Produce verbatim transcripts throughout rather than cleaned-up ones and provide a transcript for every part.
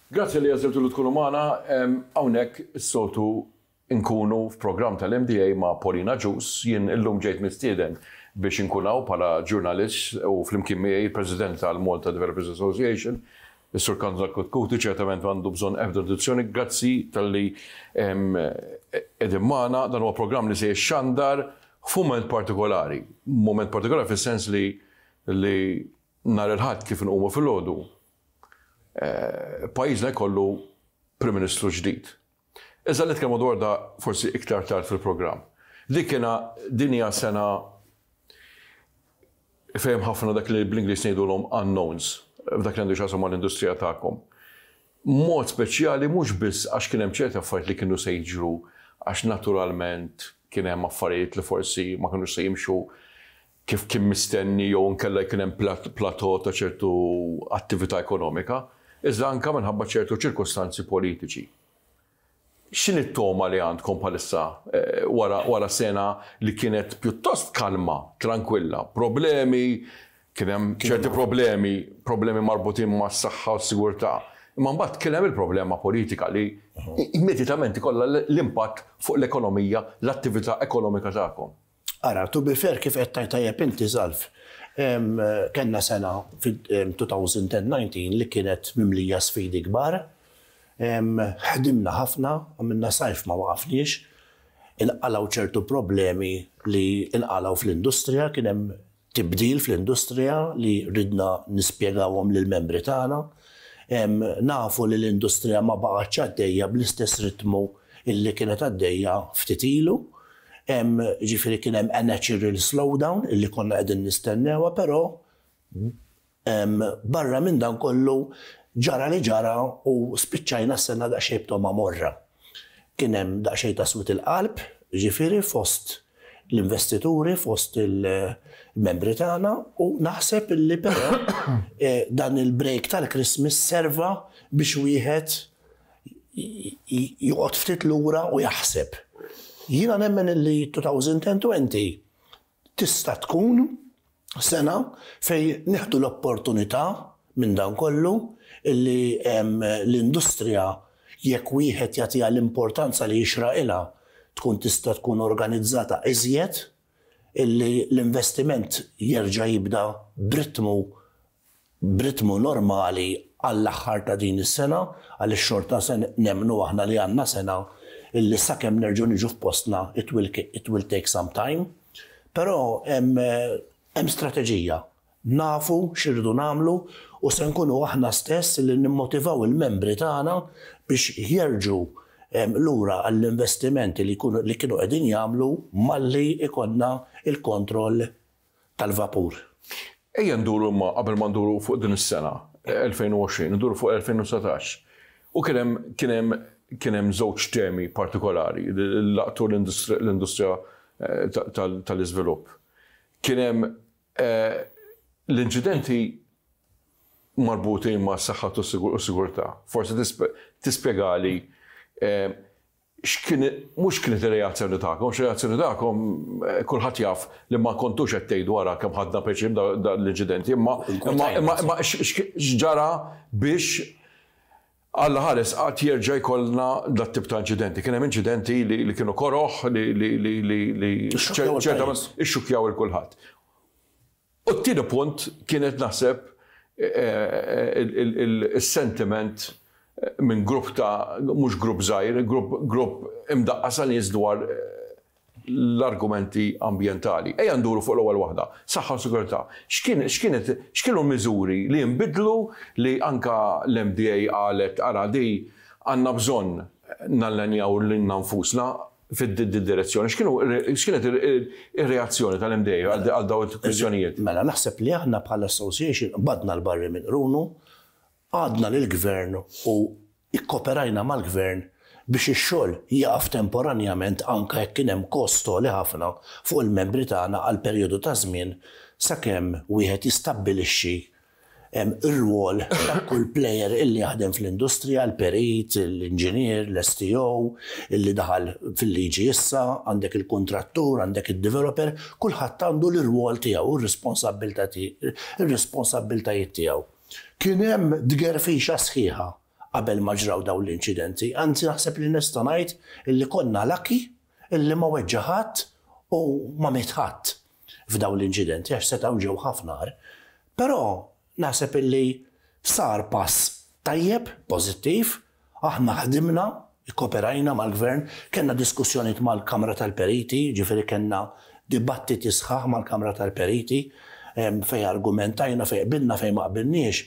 Grazzi li għażiltu li tkunu magħna. Hawnhekk is-soltu nkunu f'programm tal-M D A ma' Pauline Agius. Jien illum ġejt mistieden biex inkun hawn bħala ġurnalist u flimkien miegħi il-President tal-Malta Developers Association, is-Sur Konrad Chetcuti, ċertament għandu bżonn ebda introduzzjoni. Grazzi talli qegħdin magħna. Dan huwa programm li se jixxandar f'mument partikolari. Moment partikolari fis-sens li li nhar il-Ħadd kif nqumu filgħodu Eh, pajjiżna jkollu Prim Ministru ġdid. Iżda nitkellmu dwar da forsi iktar tard fil-programm. Dik kiena din hija sena fejn ħafna dak li bl-Ingliż ngħidulhom unknowns, f'dak li għandu x'jaqsam mal-industrija tagħkom. Mod speċjali mhux biss għax kien hemm ċerti affarijiet li kienu se jiġru, għax naturalment kien hemm affarijiet li forsi ma kinux se jimxu kif kien mistenni jew nkella kien hemm plateau ta' ċertu attività ekonomika, iżda anka minħabba ċertu ċirkostanzi politiċi. X'inhi t-togħma li għandkom bħalissa eh, wara, wara sena li kienet pjuttost kalma, tranquilla, problemi, kien hemm ċerti problemi, problemi marbutin ma' s-saħħa u s-sigurtà? Imma mbagħad kien hemm il-problema politika li immedjatament ikollha l-impatt fuq l-ekonomija, l-attività ekonomika tagħkom. Ara, to be fair, kif qed tgħid tajjeb inti, Zalf, kellna sena fil-elfejn u dsatax li kienet mimlija sfidi kbar. Ħdimna ħafna, għamilna sajf ma waqafniex, inqalaw ċertu problemi li inqalaw fl-industrija, kien hemm tibdil fl-industrija li ridna nispjegawhom lill-membri tagħna. Nafu li l-industrija ma baqgħetx għaddejja bl-istess ritmu illi kienet għaddejja ftit ilu. Ġifieri kien hemm a natural slowdown illi konna qegħdin nistennewha, però barra minn dan kollu ġara li ġara u spiċċajna s-sena daqsxejn b'togħma morra. Kien hemm daqsxejn ta' swied il-qalb, ġifieri fost l-investituri, fost il-membri tagħna, u naħseb illi però eh, dan il-break tal-Christmas serva biex wieħed joqgħod ftit lura u jaħseb. Jiena nemmen li elfejn u għoxrin tista' tkun sena fej nieħdu l-opportunità minn dan kollu illi l-industrija, jekk wieħed jagħtiha l-importanza li jixraqilha, tkun tista' tkun organizzata iżjed, illi l-investiment jerġa' jibda b'ritmu b'ritmu normali għall-aħħar ta' din is-sena, għaliex xorta se nemmnu aħna li għandna sena illi sakemm nerġgħu niġu f'postna it will, it will take some time. Però hemm strateġija. Nafu x'irridu nagħmlu u se nkunu aħna stess li nimmotivaw il-membri tagħna biex jerġgħu lura għall-investimenti li, li kienu qegħdin jagħmlu malli ikollna il-kontroll tal-vapur. Ejja nduru, ma qabel ma nduru fuq din is-sena elfejn u għoxrin, nduru fuq elfejn u dsatax. U kien hemm kien hemm kien hemm żewġ temi partikolari li laqtu l-industrija eh, tal-iżvilupp. Kien hemm eh, l-inċidenti marbutin ma' s-saħħa u sigurtà. Forsi tispjegali eh, x'kien, mhux kienet ir-reazzjoni tagħkom, x'reazzjoni tagħkom, kulħadd jaf li ma kontux qed tgħidu wara kemm ħadna pjaċir l-inċidenti, imma imma x'ġara biex Alla ħares qatt jerġa' jkollna dat tip ta' inċidenti. Kien hemm inċidenti li kienu koroħ li li li li li ċertament ixxukjaw il kulħadd. U t-tieni punt kienet, naħseb, il-sentiment minn grupp ta', mhux grupp żgħir, grupp grupp imdaqqas nies dwar l-argumenti ambientali. Ejja nduru fuq l-ewwel waħda, saħħa u sigurtà. X'kienet x'kienu miżuri li nbidlu li anka l-M D A qalet, ara, di għandna bżonn nallinjaw lilna nfusna fid-direzzjoni? X'kienet ir-reazzjoni tal-M D A għal dawn il-kwistjonijiet? Mela, naħseb li aħna bħala association qbadna l-barri minn qrunu, għadna lill-gvern u ikkoperajna mal-gvern biex ix-xogħol jaqaf temporanjament, anke jekk kien hemm kost li ħafna fuq il-membri tagħna, għal perjodu ta' żmien sakemm wieħed jistabbilixxi ir-rwol ta' kull player illi jaħdem fl-industrija, l-perit, l-inġinier, l-S T O, illi daħal fil-liġi issa, għandek il-kontrattur, għandek il-developer, kulħadd għandu l-rwol tiegħu u r-responsabbiltajiet tiegħu. Kien hemm dgerfixa sħiħa. qabel ma ġraw dawn l-inċidenti. Anzi, naħseb li nista' ngħid illi konna lucky illi ma weġġa' ħadd u ma miet ħadd f'dawn l-inċidenti, għax setgħu ġew ħafna agħar. Però naħseb illi sar pass tajjeb, pożittiv, aħna ħdimna, ikkoperajna mal-gvern, kellna diskussjonijiet mal-Kamra tal-Periti, ġifieri kellna dibattiti sħaħ mal-Kamra tal-Periti, fejn argumentajna, fejn qbilna, fejn ma qbilniex,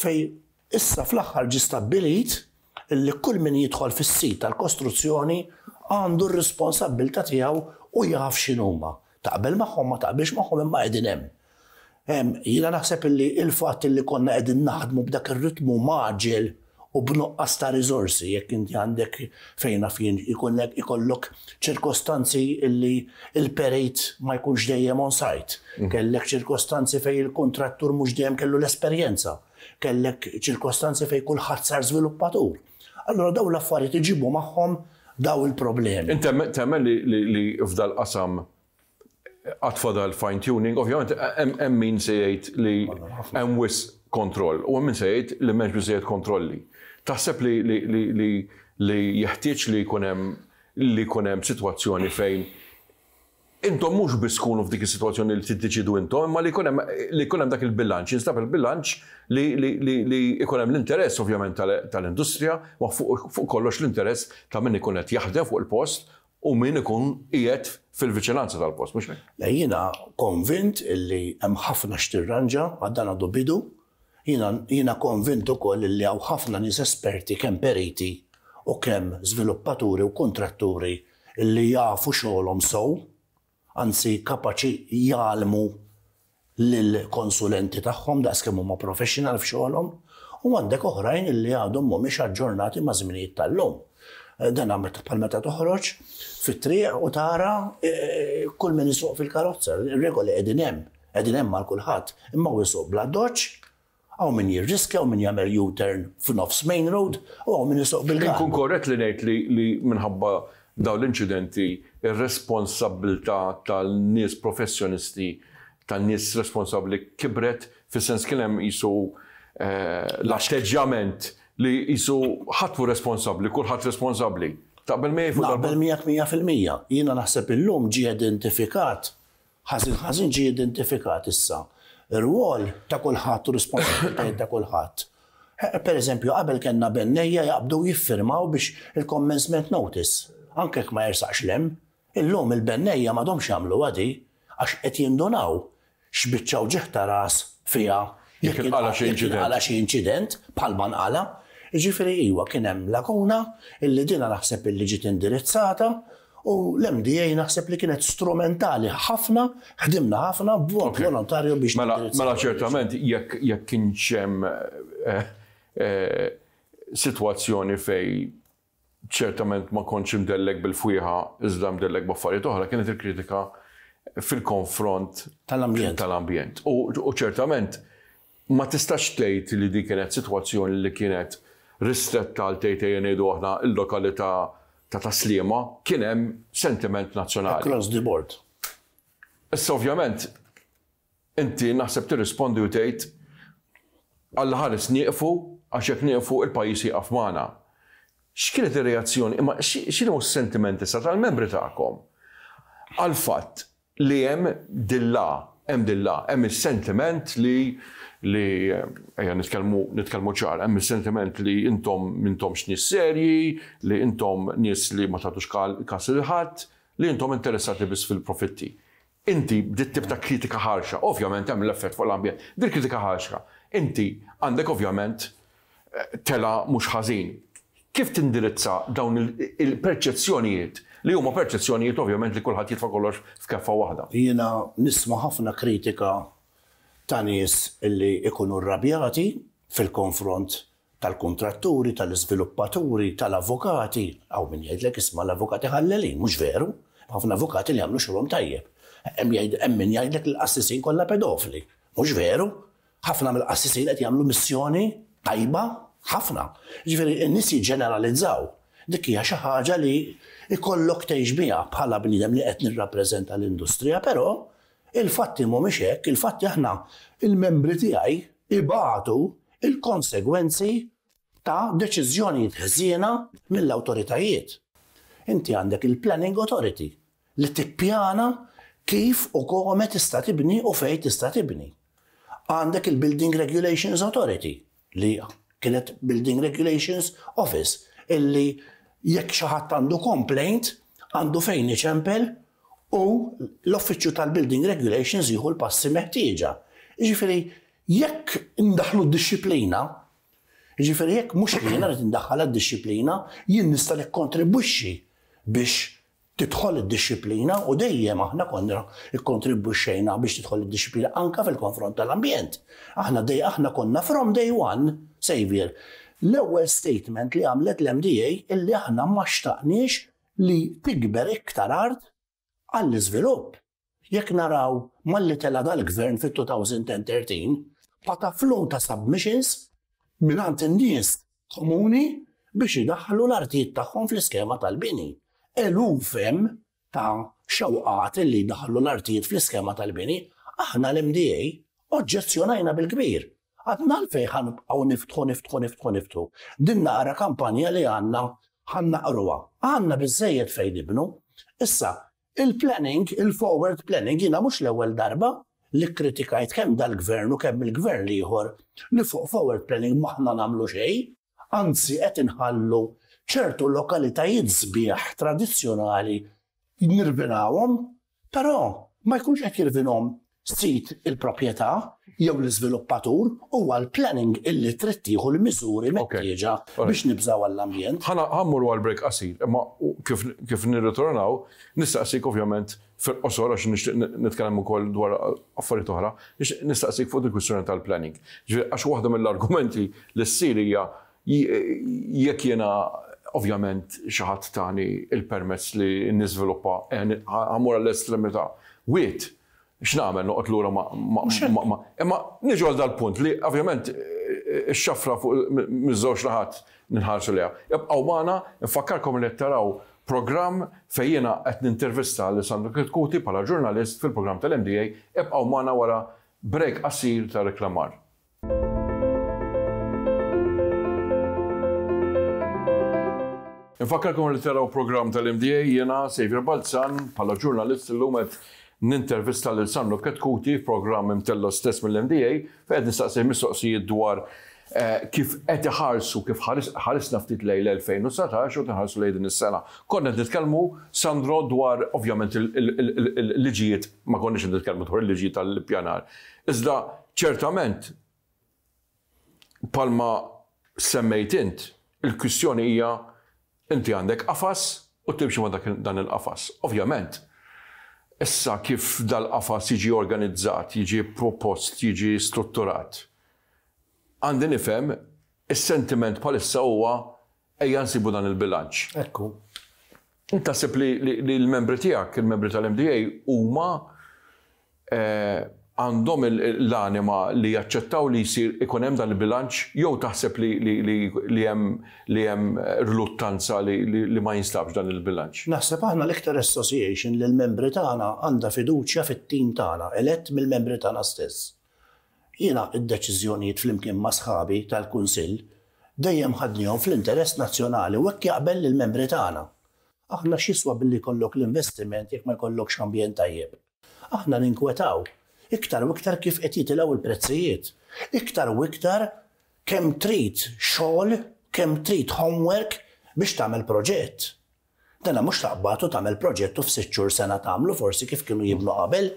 fejn issa fl-aħħar ġi stabbilit illi kull min jidħol fis-sit tal-kostruzzjoni għandu r-responsabbiltà tiegħu u jaf x'inhuma. Taqbel magħhom, ma taqbilx magħhom, imma qegħdin hemm. Jiena naħseb illi il-fatt illi konna qegħdin naħdmu b'dak ir-ritmu mgħaġġel u b'nuqqas ta' riżorsi, jekk inti għandek fejn naf jien ikollok ikollok ċirkostanzi illi il-perit ma jkunx dejjem on site. Kellek ċirkostanzi fejn il-kontrattur mhux dejjem kellu l-esperjenza. Kellek ċirkostanzi fejn kulħadd sar żviluppatur. Allura dawn l-affarijiet iġibu magħhom daw il-problemi. Inti temmen li, li, li f'dal qasam għad fadal fine tuning, ovvjament hemm min se jgħid li hemm wisq kontroll u hemm min se jgħid li m'hemmx biżejjed kontrolli. Taħseb li li li li, li jeħtieġ li jkun hemm li jkun hemm sitwazzjoni fejn intom mhux biss tkunu f'dik is-sitwazzjoni li tiddeċidu intom, imma li jkun hemm li jkun hemm dak il-bilanċ, jinstab il-bilanċ li li li li jkun hemm l-interess ovvjament tal-industrija, ma fuq fuq kollox l-interess ta' min ikun qed jaħdem fuq il-post u min ikun qiegħed fil-viċinanza tal-post, mhux hekk? Le, jiena konvint illi hemm ħafna x'tirranġa, għad dan għadu bidu. Jiena jiena konvint ukoll illi hawn ħafna nies esperti, kemm periti u kemm żviluppaturi u kontratturi, illi jafu xogħolhom sew, anzi kapaċi jgħallmu lill-konsulenti tagħhom daqskemm huma professional f'xogħolhom, u għandek oħrajn illi għadhom mhumiex aġġornati ma' żminijiet tal-lum. Dan bħal meta toħroġ fit-triq u tara kull min isuq fil-karozza, ir-regoli qegħdin hemm, qegħdin hemm għal kulħadd, imma hu jsuq bla doċ, hawn min jirriskja, hawn min jagħmel U-turn f'nofs main road, u hawn min isuq bil-gar. Inkun korrett li ngħid li, li minħabba dawn l-inċidenti ir-responsabbiltà tal-nies professjonisti, tan-nies responsabbli kibret, fis-sens kien hemm qisu l-atteġġjament li qisu ħadd hu responsabbli, kulħadd responsabbli. Taqbel miegħi fuq Naqbel miegħek mija fil-mija. Jiena naħseb illum ġie identifikat, ħażin ħażin ġie identifikat issa ir-rwol ta' kulħadd u responsabbiltajiet ta' kulħadd. Per eżempju, qabel kellna bennejja jaqbdu jiffirmaw biex il-commencement notice, anke jekk ma jersaqx lem, illum il-bennejja m'għadhomx jagħmlu għadi għax qed jindunaw x'biċċa wġigħ ta' ras fiha jekk inqala xi inċident. Inqala xi inċident bħalma nqala. Jiġifieri iwa, kien hemm lakuna illi dina naħseb illi ġiet indirizzata u l-M D A naħseb li kienet strumentali ħafna, ħdimna ħafna b'mod volontarju biex Mela, nindirizzaw. Mela ċertament jekk jekk kienx hemm eh, eh, sitwazzjoni fejn ċertament ma kontx imdellek bil-fwieħa iżda mdellek b'affarijiet oħra, kienet il-kritika fil-konfront tal-ambjent. Tal-ambjent. U, u ċertament ma tistax tgħid li di kienet sitwazzjoni li kienet ristretta għal tgħid, ejja ngħidu aħna, il-lokalità ta' Tas-Sliema, kien hemm sentiment nazzjonali. Across the board. Issa ovvjament inti naħseb tirrispondi u tgħid Alla ħares nieqfu, għax jekk nieqfu il-pajjiż jieqaf magħna. X'kienet ir-reazzjoni, imma x'inhu s-sentiment issa tal-membri tagħkom għal fatt li hemm dilla, hemm dilla, hemm is-sentiment li li ejja nitkellmu nitkellmu ċar, hemm is-sentiment li intom m'intomx nies serji, li intom nies li ma tagħtux kas lil ħadd, li intom interessati biss fil-profitti. Inti bdiet tip ta' kritika ħarxa, ovvjament hemm l-effett fuq l-ambjent, din kritika ħarxa. Inti għandek ovvjament eh, tela mhux ħażin. Kif tindirizza dawn il-perċezzjonijiet li huma perċezzjonijiet ovvjament li kulħadd jitfa' kollox f'keffa waħda? Jiena nisma' ħafna kritika ta' nies illi ikunu rrabjati fil-konfront tal-kontratturi, tal-iżviluppaturi, tal-avukati. Hawn min jgħidlek, "Isma', l-avukati ħallelin." Mhux veru. Ħafna avukati li jagħmlu xogħolhom tajjeb. Hemm min jgħidlek l-qassisin kollha pedofili. Mhux veru. Ħafna mill-qassisin qed jagħmlu missjoni tajba ħafna. Ġifieri n-nies jiġġeneralizzaw. Dik hija xi ħaġa li ikollok tgħix biha bħala bniedem li qed nirrappreżenta l-industrija, però il-fatti mhumiex hekk, il-fatti aħna il-membri tiegħi ibatu il-konsegwenzi. ta' deċiżjonijiet ħżiena mill-awtoritajiet. Inti għandek il-Planning Authority li tippjana kif u kome tista' tibni u fejn tista' tibni. Għandek il-Building Regulations Authority li kienet Building Regulations Office illi jekk xi ħadd għandu complaint għandu fejn iċempel u l-Uffiċċju tal-Building Regulations jieħu l-passi meħtieġa. Jiġifieri jekk indaħlu d-disciplina, jiġifieri jekk mhux jiena rrid indaħħal d-disciplina, jien nista' nikkontribwixxi biex tidħol id-disciplina u dejjem aħna konna ikkontribwixxejna biex tidħol id-disciplina anka fil-konfront tal-ambjent. Aħna dej aħna konna from day one, Xavier. L-ewwel statement li għamlet l-M D A illi aħna ma xtaqniex li tikber iktar art għall-iżvilupp. Jekk naraw malli tela dal-gvern fit-elfejn u tlettax, pataflun ta' submissions mingħand in-nies komuni biex idaħħlu l-artijiet tagħhom fl-iskema tal-bini. Eluf hemm ta' xewqat li daħlu l-artijiet fl-iskema tal-bini, aħna l-M D A oġġezzjonajna bil-kbir. Għadna l-fej ħa nibqgħu niftħu, niftħu, niftħu, niftħu. Din naqra kampanja li għandna ħa naqruha. Għandna biżżejjed fejn nibnu. Issa, il-planning, il-forward planning, jiena mhux l-ewwel darba li kritikajt kemm dal-gvern u kemm il-gvern l-ieħor li fuq forward planning m'aħna nagħmlu xejn, anzi qed inħallu ċertu lokalitajiet sbieħ tradizzjonali nirvinawhom, però ma jkunx qed jirvinhom sid il-proprjetà jew l-iżviluppatur, huwa l-planning illi trid tieħu l-miżuri meħtieġa biex nibżaw għall-ambjent. Ħana ħa mmorru għal break qasir, imma kif, kif nirritornaw, nistaqsik ovvjament fil-qosor għax nixtieq nitkellem ukoll dwar affarijiet oħra, nixtieq nistaqsik fuq il-kwistjoni tal-planning. Ġifieri, għax waħda mill-argumenti li ssir hija jekk jiena ovvjament xi ħadd tani il-permess li niżviluppa, ħa mmur għall-estremità. Wied, x'nagħmel, noqgħod lura ma ma ma Imma niġu għal dal-punt li ovvjament ix-xafra fuq miż-żewġ naħat ninħarsu lejha. Ibqgħu magħna, nfakkarkom li qed taraw programm fejn jiena qed nintervista lil Sandro Chetcuti bħala ġurnalist fil-programm tal-M D A. Ibqgħu magħna wara break qasir ta' reklamar. Infakkarkom li taraw programm tal-M D A, jiena Xavier Balzan, bħala ġurnalist illum qed nintervista lil Sandro Chetcuti f'programm imtella' stess mill-M D A fejn qed nistaqsi mistoqsijiet dwar eh, kif qed iħarsu, kif ħarisna ftit lejn l-elfejn u dsatax u tinħarsu lejn din is-sena. Konna qed nitkellmu, Sandro, dwar ovvjament il-liġijiet, ma konniex qed nitkellmu dwar il-liġijiet tal-ippjanar. Iżda ċertament bħalma semmejt int, il-kwistjoni hija inti għandek qafas u timxi ma' dan il-qafas. Ovvjament, issa kif dal-qafas jiġi organizzat, jiġi propost, jiġi strutturat. Għandi nifhem, is-sentiment bħalissa huwa ejja nsibu dan il-bilanċ. Ekku. Inta taħseb li, li, li l-membri tiegħek, il-membri tal-M D A, huma eh, għandhom l-anima li jaċċettaw li jsir ikun hemm dan il-bilanċ jew taħseb li li li li hemm li hemm riluttanza li, li, li ma jinstabx dan il-bilanċ? Naħseb aħna l-iktar association li l-membri tagħna għandha fiduċja fit-tim tagħna, elett mill-membri tagħna stess. Jiena id-deċiżjonijiet flimkien ma' sħabi tal-Kunsill dejjem ħadnihom fl-interess nazzjonali u hekk jaqbel lill-membri tagħna. Aħna x'jiswa billi jkollok l-investiment jekk ma jkollokx ambjent tajjeb? Aħna ninkwetaw iktar u iktar kif qed jitilgħu il-prezzijiet. Iktar u iktar kemm trid xogħol, kemm trid homework biex tagħmel proġett. Dana mhux taqbad u tagħmel proġett u f'sitt xhur sena tagħmlu, forsi kif kienu jibnu qabel.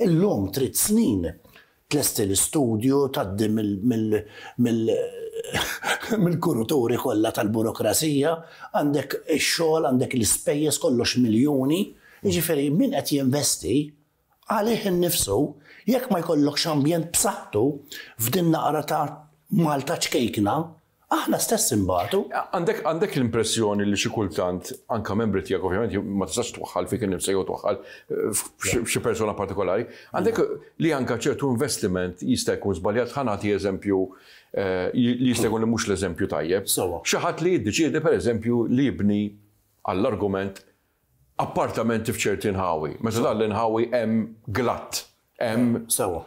Illum trid snin tlesti l-istudju, tgħaddi mill-kuruturi kollha tal-burokrazija, għandek ix-xogħol, għandek l-ispejjeż, kollox miljuni. Jiġifieri min qed jinvesti għalih innifsu, jekk ma jkollokx ambjent b'saħħtu f'din naqra ta' Malta ċkejkna, aħna stess imbatu. Għandek għandek l-impressjoni li xi kultant anka membri tiegħek, ovvjament ma tistax twaħħal fik innifsek jew twaħħal eh, f'xi persona partikolari, għandek li anka ċertu investiment jista' jkun żbaljat? Ħa nagħti eżempju eh, li jista' jkun li mhux l-eżempju tajjeb. Xi ħadd li jiddeċiedi, pereżempju, li jibni, għall-argument, appartamenti f'ċerti nħawi. Meta dan l-inħawi hemm glatt, hemm Sewa.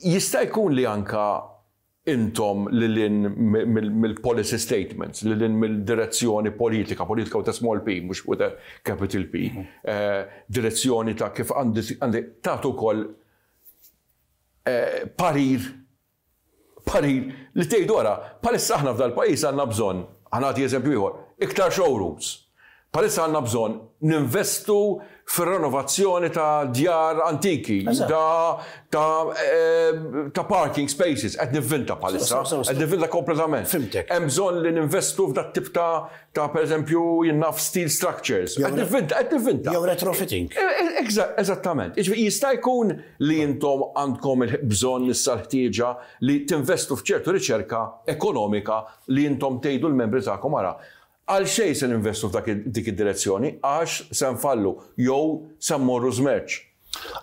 Jista' jkun li anka intom lil hinn mill-policy statements, lil hinn mill-direzzjoni politika, politika with a small p, mhux with a capital P, eh, direzzjoni ta' kif għandi tagħtu wkoll eh, parir parir li tgħidu ara, bħalissa aħna f'dal-pajjiż għandna bżonn, ħa nagħti eżempju ieħor, iktar showrooms. Bħalissa għandna bżonn ninvestu fir-renovazzjoni ta' djar antiki, ta', ta, eh, ta' parking spaces, qed nivvinta bħalissa, qed nivvinta kompletament. Fhimtek. Hemm bżonn li ninvestu f'dat tip ta' ta' pereżempju jien naf steel structures. Qed nivvinta, qed nivvinta. Jew retrofitting. E, e, eżattament. Jista' jkun li intom għandkom il-bżonn issa l-ħtieġa li tinvestu f'ċertu riċerka ekonomika li intom tgħidu l-membri tagħkom ara. Għal xejn se ninvestu f'dak dik id-direzzjoni għax se nfallu jew se mmorru żmerċ.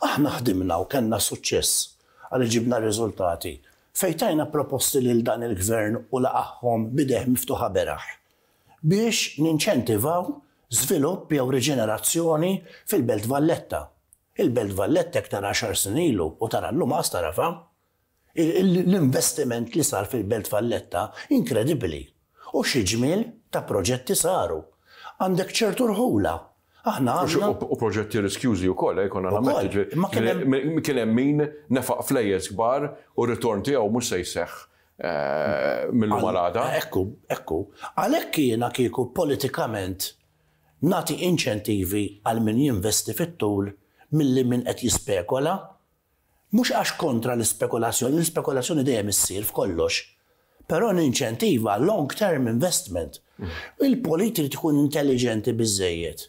Aħna ħdimna u kellna suċċess għal ġibna riżultati. Fejn tajna proposti lil dan il-gvern u laqagħhom b'idejh miftuħa beraħ biex ninċentivaw żvilupp jew riġenerazzjoni fil-Belt Valletta. Il-Belt Valletta iktar għaxar snin ilu u tara llum għas tarafa. L-investiment li sar fil-Belt Valletta inkredibbli. U xi ġmiel ta' proġetti saru. Għandek ċertu rħula. Aħna għandna. U proġetti riskjużi wkoll, eh, konna nammetti. Kien hemm min nefaq flejjes kbar u ritorn tiegħu mhux se jseħħ eh, mill-lum għal għada. Ekku, ekku. Għalhekk jiena kieku politikament nagħti inċentivi għal min jinvesti fit-tul milli min qed jispekola. Mhux għax kontra l-ispekulazzjoni, l-ispekulazzjoni dejjem issir f'kollox. Però ninċentiva long term investment. Il-politiku tkun intelligenti biżejjed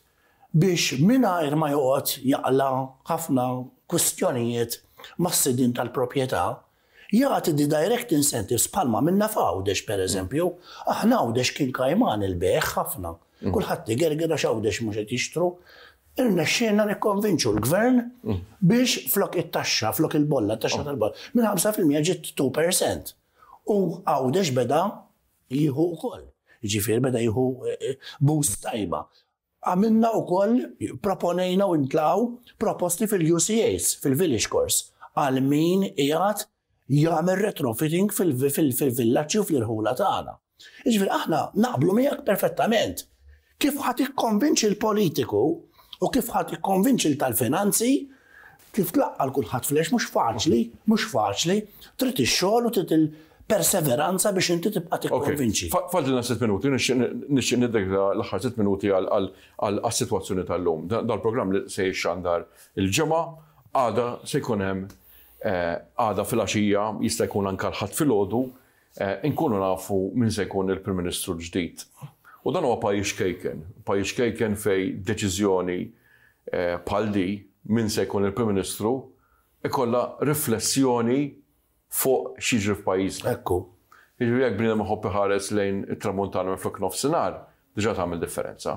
biex mingħajr ma joqgħod jaqla ħafna kwistjonijiet mas-sidin tal-proprjetà, jagħti di direct incentives bħalma għamilna f'Għawdex per eżempju, aħna Għawdex kien kajman il-bejgħ ħafna. Kulħadd igerger għax Għawdex mhux qed jixtru. Irnexxielna nikkonvinċu l-gvern biex flok it-taxxa, flok il-bolla, taxxa tal-bolla, minn ħamsa fil-mija ġiet tnejn fil-mija. U Għawdex beda jieħu wkoll. Ġifier beda jieħu eh, boost tajba. Għamilna wkoll, proponejna u ntlaqgħu proposti fil-U C As, fil-Village Cores, għal min qiegħed jagħmel retrofitting fil-villaġġi u fl-irħula tagħna. Jiġifieri aħna naqblu miegħek perfettament. Kif ħa tikkonvinċi l-politiku u kif ħa tikkonvinċi tal-finanzi, kif tlaqqa kulħadd flex, mhux faċli, mhux faċli, trid ix-xogħol u trid il-perseveranza biex inti tibqa' tikkonvinċi. Fadlilna sitt minuti, nixtieq niddedika l-aħħar sitt minuti għal-sitwazzjoni tal-lum. Dal-programm li se jixxandar il-Ġimgħa, għada se jkun hemm eh, għada fil-għaxija, jista' jkun anke l-Ħadd filgħodu, eh, inkunu nafu min se jkun il-Prim Ministru ġdid. U dan huwa pajjiż ċkejken, pajjiż ċkejken fejn deċiżjoni eh, bħal di min se jkun il-Prim Ministru ikolla riflessjoni fuq x'jiġri f'pajjiżna. Ekku. Jiġifieri jekk bniedem iħobb iħares lejn it-tramuntana minflok nofsinhar, diġà tagħmel differenza.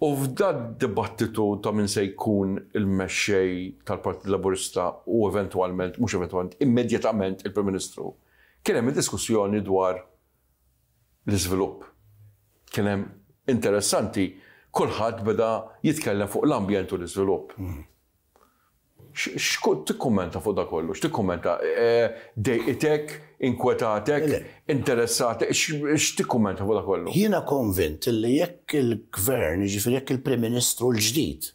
U f'dad dibattitu ta' min se jkun il-mexxej tal-Partit Laburista u eventwalment, mhux eventwalment, immedjatament il-Prim Ministru, kien hemm diskussjoni dwar l-iżvilupp. Kien hemm interessanti, kulħadd beda jitkellem fuq l-ambjent u l-iżvilupp. X'kont tikkummenta fuq da kollu? X'tikkummenta? Eh, dejqitek, inkwetatek, interessatek, x'tikkummenta fuq da kollu? Jiena konvint li jekk il-gvern, jiġifieri jekk il-Prim Ministru l-ġdid,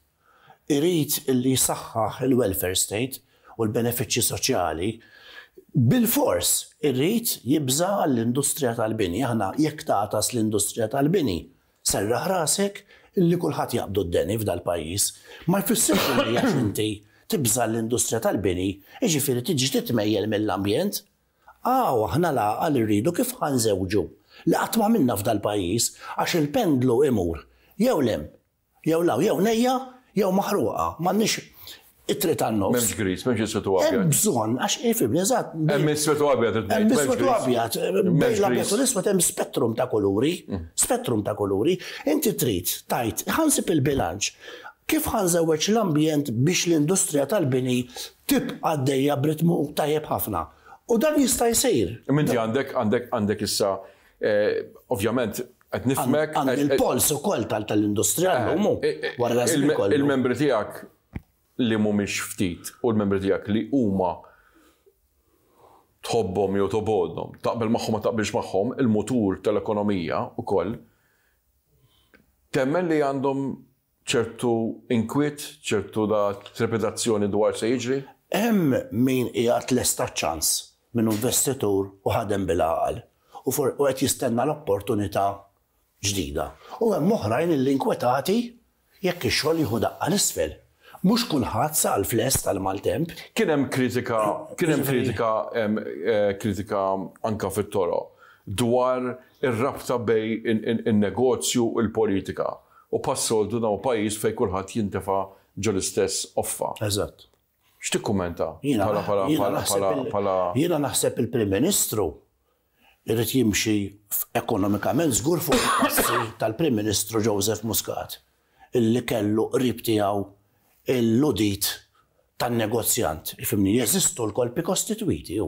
irid li jsaħħaħ il-welfare state u l-benefiċċji soċjali, bil-fors irrid jibża l-industrija tal-bini. Aħna jekk tagħtas l-industrija tal-bini, serraħ rasek illi kulħadd jaqbdu d-deni f'dal-pajjiż. Ma jfissirx li għax inti tibża l-industrija tal-bini, jiġifieri tiġi titmejjel mill-ambjent. Aw, aħna laqgħa li rridu kif ħa nżewġu li qatt ma minna f'dal-pajjiż għax il-pendlu imur jew 'l hemm, jew 'l hawn, jew nejja, jew maħruqa. M'għandniex it-triq tan-nofs. M'hemmx gris, m'hemmx iswed u abjad. Hemm bżonn, għax ifhimni, eżatt. Hemm iswed u abjad. Hemm iswed u abjad. Bejn l-abjad u l-iswed hemm spettrum ta' kuluri, spettrum ta' kuluri. Inti trid tgħid, ħa nsib il-bilanċ. Kif ħa nżewweġ l-ambjent biex l-industrija tal-bini tibqa' għaddejja b'ritmu tajjeb ħafna? U dan jista' jsir. Inti għandek għandek għandek issa, eh, ovvjament, qed nifhmek. Għandi il-pols ukoll tal-industrija llum eh, wara l kollu. Il-membri tiegħek li mhumiex ftit u l-membri tiegħek li huma Tħobbhom jew tobgħodhom, taqbel magħhom ma taqbilx magħhom, il-mutur tal-ekonomija ukoll, temmen li għandhom ċertu inkwiet, ċertu da trepidazzjoni dwar se jiġri? Hemm min qiegħed lesta ċans minn investitur u ħadem bil-għaqal u qed jistenna l-opportunità ġdida. U hemm oħrajn illi inkwetati jekk ix-xogħol jieħu daqqa l-isfel. Mhux kulħadd sal fles tal-maltemp. Kien hemm kritika, kien hemm kritika, kritika anka fit-toroq dwar ir-rabta bejn in-negozju u l-politika. U bħas-soltu dan pajjiż fejn kulħadd jintefa' ġo l-istess offa. Eżatt. X'tikkummenta? Jiena naħseb il-Prim Ministru irid jimxi ekonomikament żgur fuq il-passi tal-Prim Ministru Joseph Muscat, illi kellu qrib tiegħu l-udit tan-negozjant. Ifhimni, jeżistu l-korpi kostitwiti,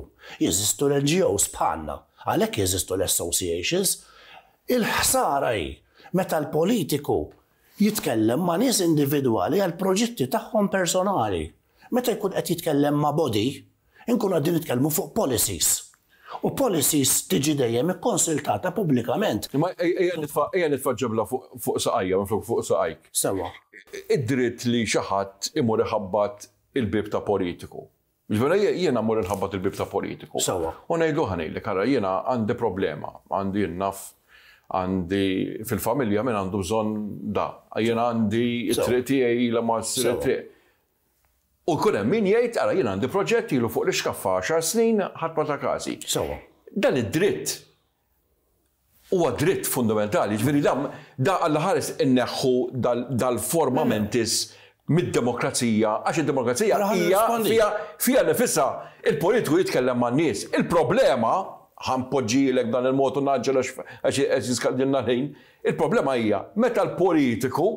jeżistu l-N G Os bħalna, għalhekk jeżistu l-associations. Il-ħsara hi meta l-politiku jitkellem ma' nies individwali għal proġetti tagħhom personali. Meta jkun qed jitkellem ma' body, inkun qegħdin nitkellmu fuq policies. U policies tiġi dejjem ikkonsultata pubblikament. Imma ejja nitfa' ġebla fuq saqajja, minflok fuq saqajk. Sewa. Id-dritt li xi ħadd imur iħabbat il-bib ta' politiku. Ġifieri jiena mmur inħabbat il-bib ta' politiku. Sewa. U ngħidlu, ħa ngħidlek, ara, jiena għandi problema, għandi naf għandi fil-familja min għandu bżonn da. Jiena għandi it-triq tiegħi ilha ma ssir triq. U jkun hemm min jgħid, ara, jien għandi proġett ilu fuq l-ixkaffa għaxar snin, ħadd ma ta kasi. Sewa. Dan id-dritt huwa dritt fundamentali, ġifieri da da Alla ħares inneħħu dal-forma mentis mid-demokrazija, għax id-demokrazija hija fija fija nifisha il-politiku jitkellem man-nies. Il-problema, ħa npoġġihielek dan il-mod u ngħaġġel għax jiskadilna ħin, il-problema hija meta l-politiku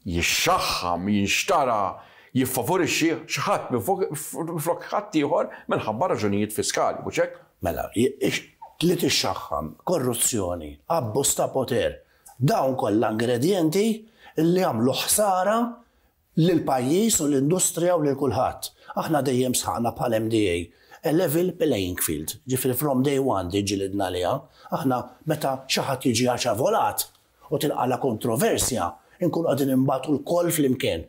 jixxaħħam, jinxtara, jiffavorixxi xi ħadd minflok ħadd ieħor minħabba raġunijiet fiskali, mhux hekk? Mela, li tixxaħħam, korruzzjoni, abbuż ta' poter, dawn kollha ingredienti li għamlu ħsara lill-pajjiż u l-industrija u lil kulħadd. Aħna dejjem sħaqna bħal M D A, a level playing field. Ġifieri from day one ġilidna liha. Aħna meta xi ħadd jiġi aċavolat u tinqala kontroversja, inkun qegħdin imbatu lkoll flimkien.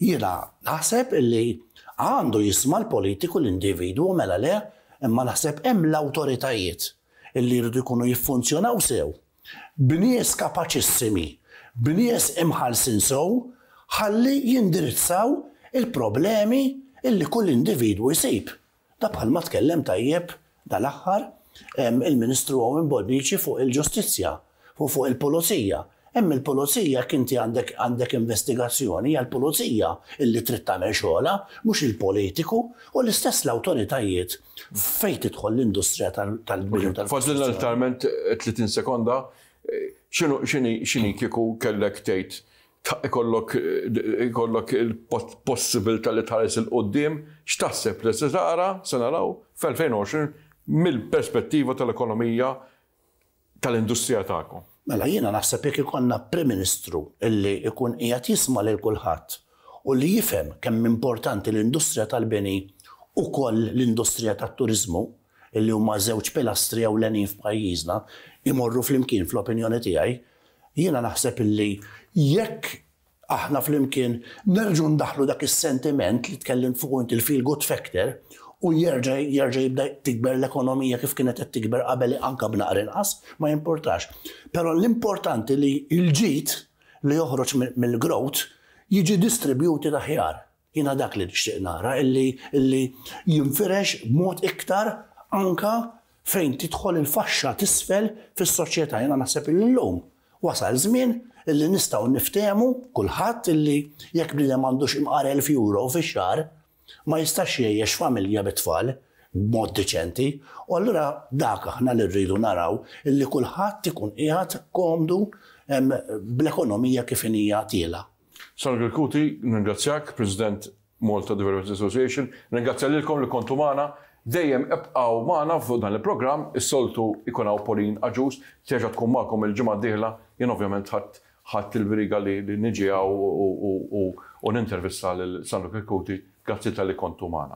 Jiena naħseb illi għandu jisma' l-politiku l-individwu, mela le, imma naħseb hemm l-awtoritajiet illi jridu jkunu jiffunzjonaw sew. B'nies kapaċissimi, b'nies imħallsin sew, ħalli jindirizzaw il-problemi illi kull individwu jsib. Da bħalma tkellem tajjeb dal-aħħar il-Ministru Owen Bonnici fuq il-ġustizzja, fuq fuq il-pulizija. Hemm il-pulizija, kinti għandek għandek investigazzjoni, għal pulizija illi trid tagħmel xogħolha, mhux il-politiku, u l-istess l-awtoritajiet fejn tidħol l-industrija tal-bini tal Fadlilna literalment tletin sekonda, x'inhu x'inhi x'inhi kieku kellek tgħid ikollok ikollok il-possibilità li tħares 'il quddiem, x'taħseb li se tara, se naraw fl-elfejn u għoxrin mill-perspettiva tal-ekonomija tal-industrija tagħkom? Mela, jiena naħseb jekk ikollna Prim Ministru illi ikun qiegħed jisma' lil kulħadd u li jifhem kemm importanti l-industrija tal-bini u koll l-industrija tat-turizmu, illi huma żewġ pilastri ewlenin f'pajjiżna, imorru flimkien fl-opinjoni tiegħi, jiena naħseb illi jekk aħna flimkien nerġu ndaħlu dak is-sentiment li tkellim fuq inti, il-feel good factor, u jerġa' jerġa' jibda tikber l-ekonomija kif kienet qed tikber qabel, anka b'naqra inqas, ma jimportax. Però l-importanti li l-ġid li joħroġ mill-growth jiġi distributed aħjar. Jiena dak li nixtieq nara, illi illi jinfirex b'mod iktar anka fejn tidħol il-faxxa t'isfel fis-soċjetà. Jiena naħseb illum wasal żmien illi nistgħu niftehmu kulħadd illi jekk bniedem m'għandux imqar elf euro fix-xahar, ma jistax jgħix familja bit-tfal b'mod diċenti, u allura dak aħna li rridu naraw, illi kulħadd ikun qiegħed komdu bl-ekonomija kif inhija tiela. Sandro Chetcuti, nirringrazzjak, President Malta Development Association, nirringrazzja lilkom li kontu magħna, dejjem ebqgħu magħna fuq dan il-programm, is-soltu ikun hawn Pauline Agius, terġa' tkun magħkom il-ġimgħa d-dieħla, jien ovvjament ħadd ħadd il-briga li niġi u nintervista lil Sandro Chetcuti. Grazzi talli kontu magħna.